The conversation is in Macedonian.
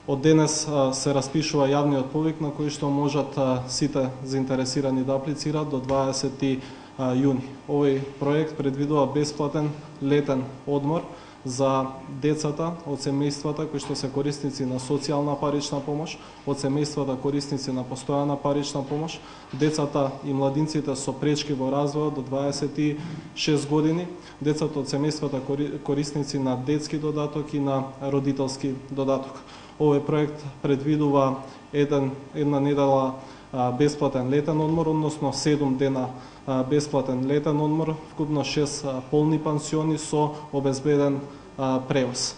Од денес се распишува јавниот повик на кој што можат сите заинтересирани да аплицираат до 20 јуни. Овој проект предвидува бесплатен летен одмор за децата од семејствата кои што се корисници на социјална парична помош, од семејствата корисници на постојана парична помош, децата и младинците со пречки во развојот до 26 години, децата од семејствата корисници на детски додаток и на родителски додаток. Овој проект предвидува една недела бесплатен летен одмор, односно 7 дена бесплатен летен одмор, вкупно 6 полни пансиони со обезбеден превоз.